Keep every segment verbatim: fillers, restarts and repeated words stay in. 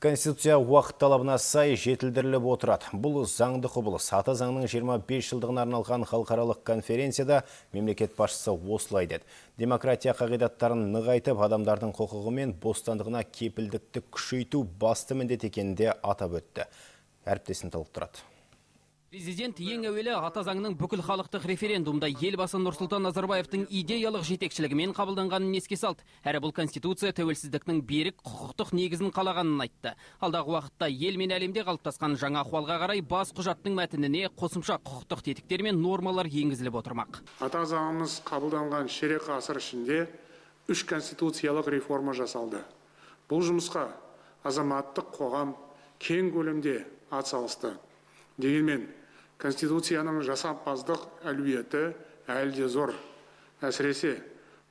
Конституция уақыт талабына сай жетілдіріліп отырады. Бұл заңды құбылыс. Ата заңның жиырма бес жылдығына арналған халықаралық конференцияда мемлекет басшысы осылай деді. Демократия қағидаттарын нығайтып, адамдардың құқығы мен бостандығына кепілдікті күшейту басты міндет екенінде атап өтті. Әріптесін толықтырады. Президент ең әуелі ата заңның бүкіл халықтық референдумда елбасы Нұрсұлтан Назарбаевтың идеялық жетекшілігімен қабылданғанын еске салды. Әрі бұл конституция тәуелсіздіктің берік құқықтық негізін қалағанын айтты. Алдағы уақытта ел мен әлемде қалыптасқан жаңа ахуалға қарай бас құжаттың мәтініне қосымша құқықтық тетіктер мен нормалар енгізіліп отырмақ. Ата заңымыз қабылданған ширек ғасыр ішінде үш конституциялық реформа жасалды. Бұл жұмысқа азаматтық қоғам кең көлемде атсалысты. Дегенмен Конституцияның жасампаздық әлеуеті әлде зор. Әсіресе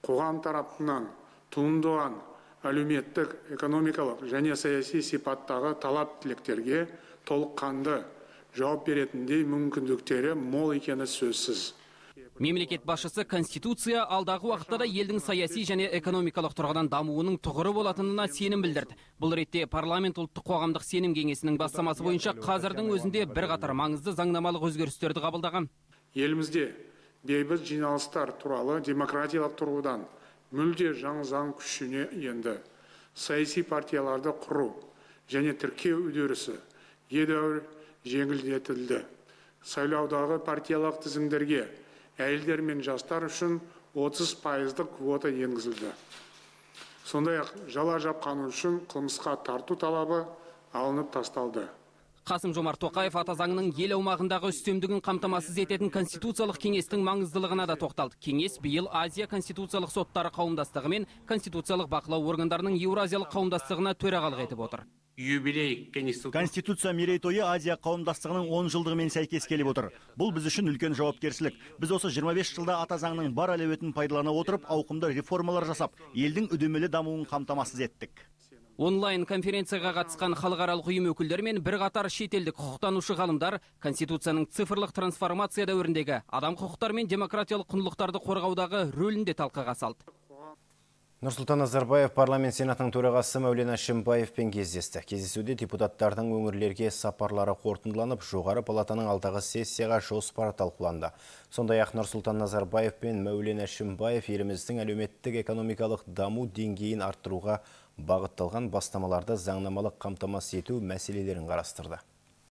қоғам тарапынан туындаған әлеуметтік, экономикалық және саяси сипаттағы талап тілектерге толыққанды жауап беретіндей мүмкіндіктері мол екені сөзсіз. Мемлекет басшысы Конституция алдағы уақытта да елдің саяси және экономикалық тұрғыдан дамуының тұғыры болатынына сенім білдірді. Бұл ретте парламент ұлттық қоғамдық сенім кеңесінің бастамасы бойынша қазірдің өзінде бірқатар маңызды заңнамалық өзгерістерді қабылдаған. Елімізде бейбіт жиналыстар туралы демократиялық тұрғыдан мүлде жаңа заң күшіне енді. Саяси партияларды құру және тіркеу үдерісі едәуір жеңілдетілді. Сайлаудағы партиялық тізімдерге әйелдер мен жастар үшін отыз пайыздық квота енгізілді. Сондай-ақ жала жапқаны үшін қылмысқа тарту талабы алынып тасталды. Қасым-Жомарт Тоқаев ата заңның ел аумағындағы үстемдігін қамтамасыз ететін конституциялық кеңестің маңыздылығына да тоқталды. Кеңес биыл Азия конституциялық соттары қауымдастығы мен конституциялық бақылау органдарының Еуразиялық қауымдастығына төрағалық етіп отыр. Конституция мерейтойы Азия қауымдастығының он жылдығымен сәйкес келіп отыр. Бұл біз үшін үлкен жауапкершілік. Біз осы жиырма бес жылда ата заңның бар әлеуетін пайдалана отырып, ауқымды реформалар жасап, елдің үдемелі дамуын қамтамасыз еттік. Онлайн конференцияға қатысқан халықаралық ұйым өкілдері мен бірқатар шетелдік құқықтанушы ғалымдар Конституцияның цифрлық трансформация дәуіріндегі адам құқықтары мен демократиялық құндылықтарды қорғаудағы рөлін де талқыға салды. Нұрсұлтан Назарбаев парламент сенатының төрағасы Мәулен Әшімбаевпен кездесті. Кездесуде депутаттардың өңірлерге сапарлары қорытындыланып, жоғары палатаның алдағы сессияға жоспары талқыланды. Сондай-ақ Нұрсұлтан Назарбаев пен Мәулен Әшімбаев еліміздің әлеуметтік экономикалық даму деңгейін арттыруға бағытталған бастамаларды заңнамалық қамтамасыз ету мәселелерін қарастырды.